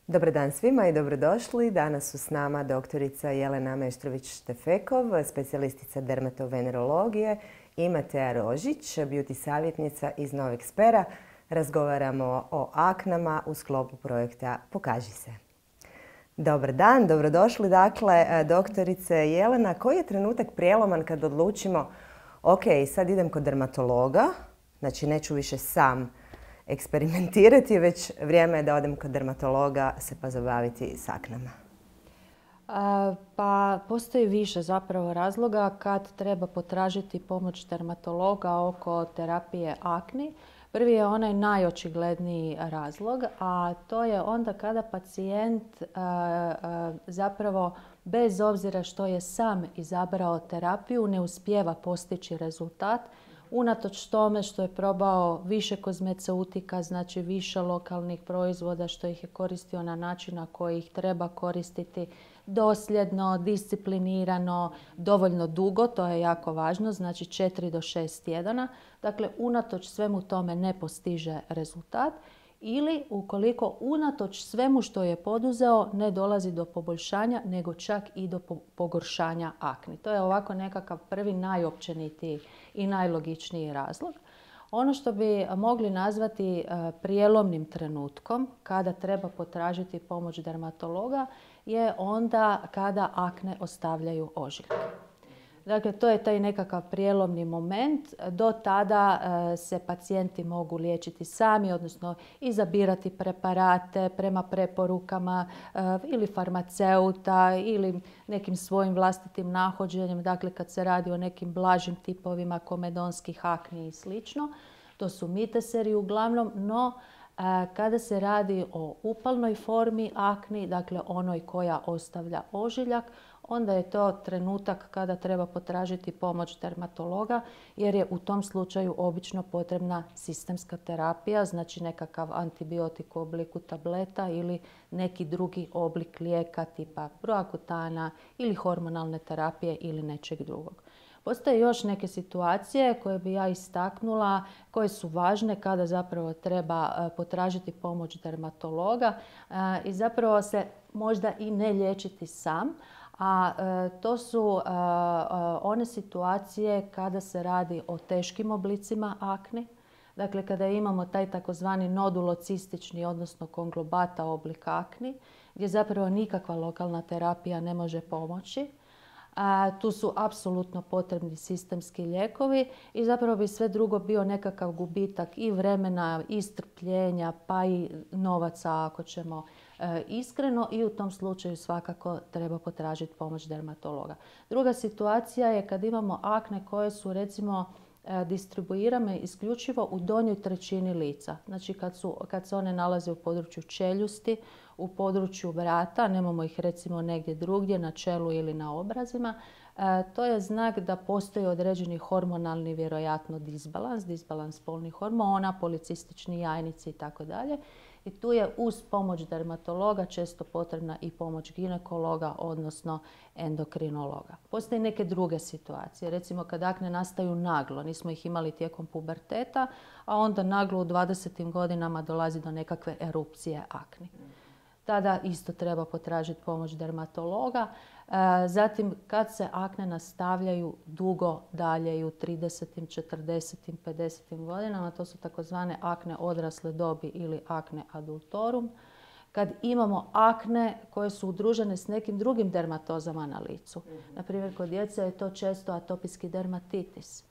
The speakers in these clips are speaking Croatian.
Dobar dan svima i dobrodošli. Danas su s nama doktorica Jelena Meštrović-Štefekov, specijalistica dermatovenerologije i Matea Rožić, beauty savjetnica iz Novog Spera. Razgovaramo o aknama u sklopu projekta Pokaži se. Dobar dan, dobrodošli. Dakle, doktorice Jelena, koji je trenutak prijeloman kad odlučimo ok, sad idem kod dermatologa, znači neću više sam eksperimentirati, već vrijeme je da odem kod dermatologa se pozabaviti s aknama? Pa postoji više zapravo razloga kad treba potražiti pomoć dermatologa oko terapije akni. Prvi je onaj najočigledniji razlog, a to je onda kada pacijent zapravo bez obzira što je sam izabrao terapiju ne uspijeva postići rezultat. Unatoč tome što je probao više kozmeceutika, znači više lokalnih proizvoda, što ih je koristio na način na koji ih treba koristiti, dosljedno, disciplinirano, dovoljno dugo, to je jako važno, znači 4 do 6 tjedana. Dakle, unatoč svemu tome ne postiže rezultat. Ili ukoliko unatoč svemu što je poduzeo ne dolazi do poboljšanja, nego čak i do pogoršanja akni. To je ovako nekakav prvi najopćenitiji i najlogičniji razlog. Ono što bi mogli nazvati prijelomnim trenutkom kada treba potražiti pomoć dermatologa je onda kada akne ostavljaju ožiljke. Dakle, to je taj nekakav prijelomni moment. Do tada se pacijenti mogu liječiti sami, odnosno izabirati preparate prema preporukama ili farmaceuta ili nekim svojim vlastitim nahođenjem. Dakle, kad se radi o nekim blažim tipovima komedonskih akni i slično. To su miteseri uglavnom, no kada se radi o upalnoj formi akni, dakle onoj koja ostavlja ožiljak, onda je to trenutak kada treba potražiti pomoć dermatologa jer je u tom slučaju obično potrebna sistemska terapija, znači nekakav antibiotik u obliku tableta ili neki drugi oblik lijeka tipa proakutana ili hormonalne terapije ili nečeg drugog. Postoje još neke situacije koje bi ja istaknula, koje su važne kada zapravo treba potražiti pomoć dermatologa i zapravo se možda i ne liječiti sam, a to su one situacije kada se radi o teškim oblicima akni. Dakle, kada imamo taj takozvani nodulocistični, odnosno konglobata oblik akni, gdje zapravo nikakva lokalna terapija ne može pomoći. Tu su apsolutno potrebni sistemski lijekovi i zapravo bi sve drugo bio nekakav gubitak i vremena, i strpljenja, pa i novaca ako ćemo iskreno i u tom slučaju svakako treba potražiti pomoć dermatologa. Druga situacija je kad imamo akne koje su recimo distribuirane isključivo u donjoj trećini lica. Znači kad se one nalaze u području čeljusti, u području vrata, nemamo ih recimo negdje drugdje, na čelu ili na obrazima, to je znak da postoji određeni hormonalni vjerojatno disbalans spolnih hormona, policistični jajnici itd. I tu je uz pomoć dermatologa često potrebna i pomoć ginekologa, odnosno endokrinologa. Postoje neke druge situacije. Recimo kad akne nastaju naglo, nismo ih imali tijekom puberteta, a onda naglo u 20. godinama dolazi do nekakve erupcije akni. Tada isto treba potražiti pomoć dermatologa. Zatim kad se akne nastavljaju dugo dalje i u 30., 40., 50. godinama, to su takozvane akne odrasle dobi ili akne adultorum. Kad imamo akne koje su udružene s nekim drugim dermatozama na licu. Naprimjer, kod djece je to često atopijski dermatitis.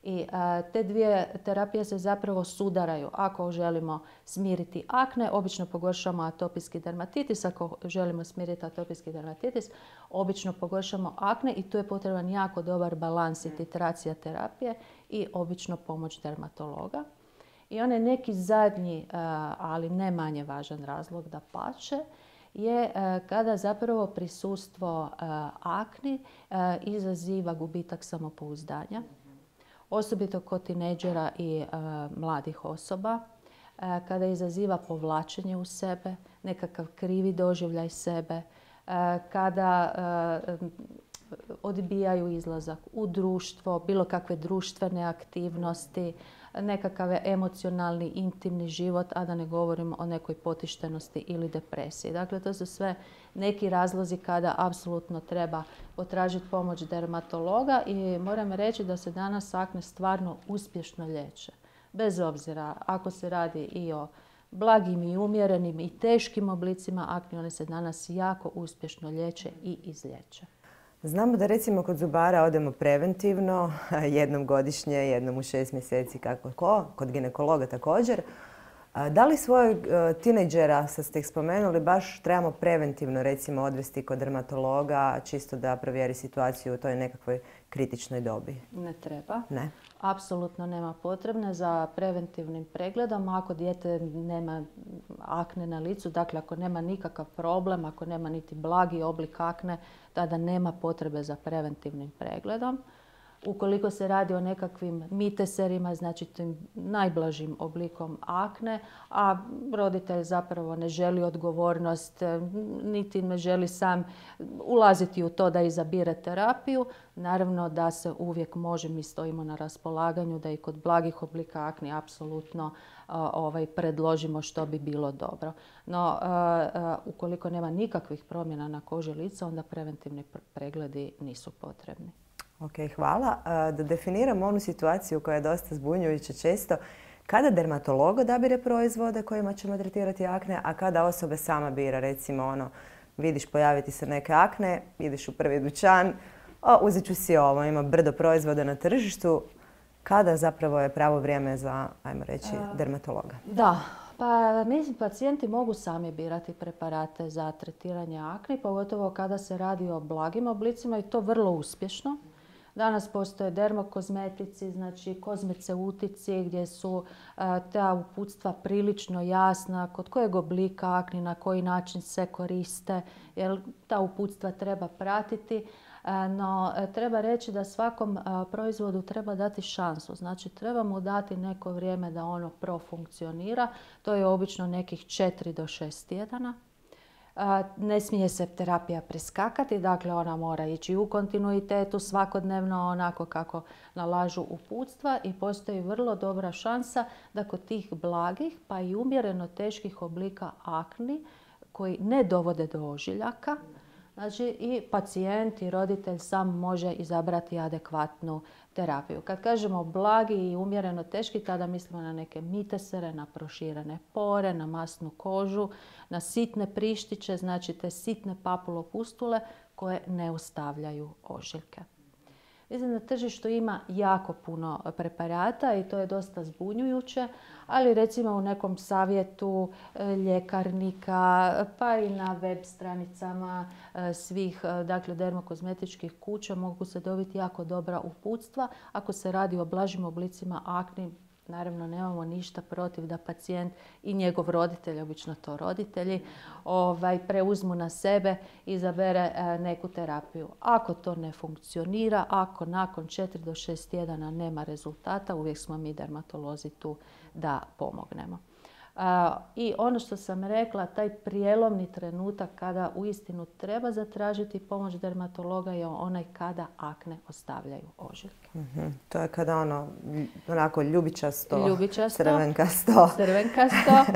I te dvije terapije se zapravo sudaraju. Ako želimo smiriti akne, obično pogoršamo atopijski dermatitis. Ako želimo smiriti atopijski dermatitis, obično pogoršamo akne i tu je potreban jako dobar balans i titracija terapije i obično pomoć dermatologa. I onaj neki zadnji, ali ne manje važan razlog dapače, je kada zapravo prisustvo akni izaziva gubitak samopouzdanja. Osobito kod tinejdžera i mladih osoba, kada izaziva povlačenje u sebe, nekakav krivi doživljaj sebe, kada odbijaju izlazak u društvo, bilo kakve društvene aktivnosti, nekakav emocionalni, intimni život, a da ne govorimo o nekoj potištenosti ili depresiji. Dakle, to su sve neki razlozi kada apsolutno treba potražiti pomoć dermatologa i moram reći da se danas akne stvarno uspješno liječe. Bez obzira ako se radi i o blagim i umjerenim i teškim oblicima akne, one se danas jako uspješno liječe i izliječe. Znamo da recimo kod zubara odemo preventivno, jednom godišnje, jednom u 6 mjeseci, kako ko, kod ginekologa također. Da li svojeg tinejdžera, sad ste ih spomenuli, baš trebamo preventivno recimo odvesti kod dermatologa, čisto da provjeri situaciju u toj nekakvoj kritičnoj dobi? Ne treba. Ne. Apsolutno nema potrebne za preventivnim pregledom. Ako dijete nema akne na licu, dakle ako nema nikakav problem, ako nema niti blagi oblik akne, tada nema potrebe za preventivnim pregledom. Ukoliko se radi o nekakvim miteserima, znači tim najblažim oblikom akne, a roditelj zapravo ne želi odgovornost, niti ne želi sam ulaziti u to da izabire terapiju, naravno da se uvijek može, mi stojimo na raspolaganju da i kod blagih oblika akne apsolutno predložimo što bi bilo dobro. No, ukoliko nema nikakvih promjena na koži lica, onda preventivni pregledi nisu potrebni. Ok, hvala. Da definiramo onu situaciju koja je dosta zbunjujuća često. Kada dermatolog odabire proizvode kojima ćemo tretirati akne, a kada osoba sama bira, recimo vidiš pojaviti se neke akne, ideš u prvi dućan, uzet ću si ovo, ima brdo proizvoda na tržištu. Kada zapravo je pravo vrijeme za, ajmo reći, dermatologa? Da, pa mislim pacijenti mogu sami birati preparate za tretiranje akne, pogotovo kada se radi o blagim oblicima i to vrlo uspješno. Danas postoje dermokozmetici, znači kozmeceutici gdje su ta uputstva prilično jasna kod kojeg oblika akni, na koji način se koriste, jer ta uputstva treba pratiti. No, treba reći da svakom proizvodu treba dati šansu. Znači, treba mu dati neko vrijeme da ono profunkcionira. To je obično nekih 4 do 6 tjedana. Ne smije se terapija preskakati, dakle ona mora ići u kontinuitetu svakodnevno onako kako nalažu uputstva i postoji vrlo dobra šansa da kod tih blagih pa i umjereno teških oblika akni koji ne dovode do ožiljaka, znači i pacijent i roditelj sam može izabrati adekvatnu terapiju. Kad kažemo blagi i umjereno teški, tada mislimo na neke mitesere, na proširene pore, na masnu kožu, na sitne prištiće, znači te sitne papulopustule koje ne ostavljaju ožiljke. Mislim da na tržištu ima jako puno preparata i to je dosta zbunjujuće, ali recimo u nekom savjetu ljekarnika pa i na web stranicama svih dermokozmetičkih kuća mogu se dobiti jako dobra uputstva. Ako se radi o blažim oblicima akni, naravno nemamo ništa protiv da pacijent i njegov roditelj, obično to roditelji, preuzmu na sebe i izabere neku terapiju. Ako to ne funkcionira, ako nakon 4 do 6 tjedana nema rezultata, uvijek smo mi dermatolozi tu da pomognemo. I ono što sam rekla, taj prijelomni trenutak kada uistinu treba zatražiti pomoć dermatologa je onaj kada akne ostavljaju ožiljke. To je kada onako ljubičasto, crvenkasto,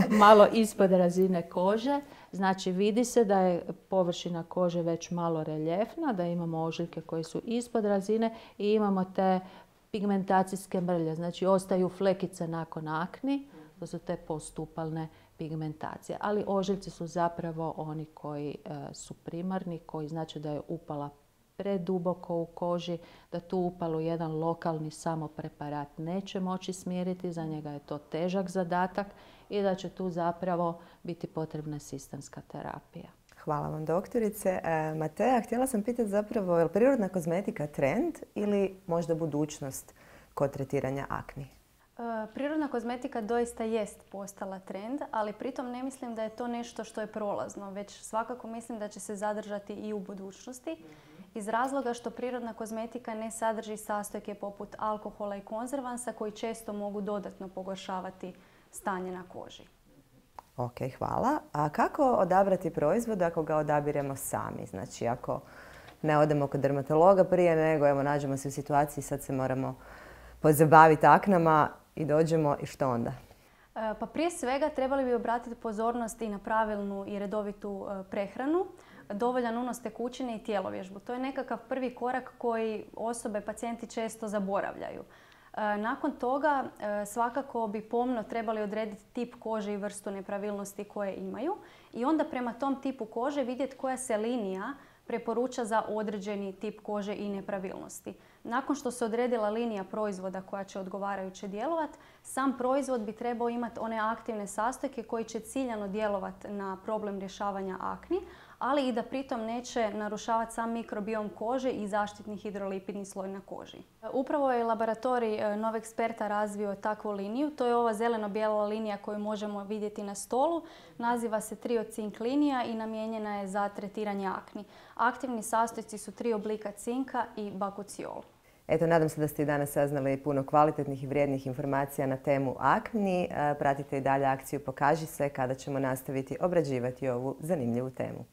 malo ispod razine kože. Znači vidi se da je površina kože već malo reljefna, da imamo ožiljke koje su ispod razine i imamo te pigmentacijske mrlje. Znači ostaju flekice nakon akni. To su te postupalne pigmentacije. Ali ožiljci su zapravo oni koji su primarni, koji znači da je upala preduboko u koži, da tu upalu jedan lokalni samo preparat neće moći smiriti, za njega je to težak zadatak i da će tu zapravo biti potrebna sistemska terapija. Hvala vam, doktorice. Matea, htjela sam pitati zapravo, je li prirodna kozmetika trend ili možda budućnost kod tretiranja akni? Prirodna kozmetika doista jest postala trend, ali pritom ne mislim da je to nešto što je prolazno, već svakako mislim da će se zadržati i u budućnosti iz razloga što prirodna kozmetika ne sadrži sastojke poput alkohola i konzervansa koji često mogu dodatno pogoršavati stanje na koži. Ok, hvala. A kako odabrati proizvod ako ga odabiremo sami? Znači ako ne odemo kod dermatologa prije nego nađemo se u situaciji sad se moramo pozabaviti aknama, i dođemo i što onda? Pa prije svega trebali bi obratiti pozornost i na pravilnu i redovitu prehranu, dovoljan unos tekućine i tjelovježbu. To je nekakav prvi korak koji osobe, pacijenti često zaboravljaju. Nakon toga svakako bi pomno trebali odrediti tip kože i vrstu nepravilnosti koje imaju i onda prema tom tipu kože vidjeti koja se linija preporuča za određeni tip kože i nepravilnosti. Nakon što se odredila linija proizvoda koja će odgovarajuće djelovati, sam proizvod bi trebao imati one aktivne sastojke koji će ciljano djelovati na problem rješavanja akni, ali i da pritom neće narušavati sam mikrobiom kože i zaštitni hidrolipidni sloj na koži. Upravo je laboratorij Novexperta razvio takvu liniju. To je ova zeleno-bijela linija koju možemo vidjeti na stolu. Naziva se Triocink linija i namijenjena je za tretiranje akni. Aktivni sastojci su 3 oblika cinka i bakuciol. Eto, nadam se da ste i danas saznali puno kvalitetnih i vrijednih informacija na temu akni. Pratite i dalje akciju Pokaži se kada ćemo nastaviti obrađivati ovu zanimljivu temu.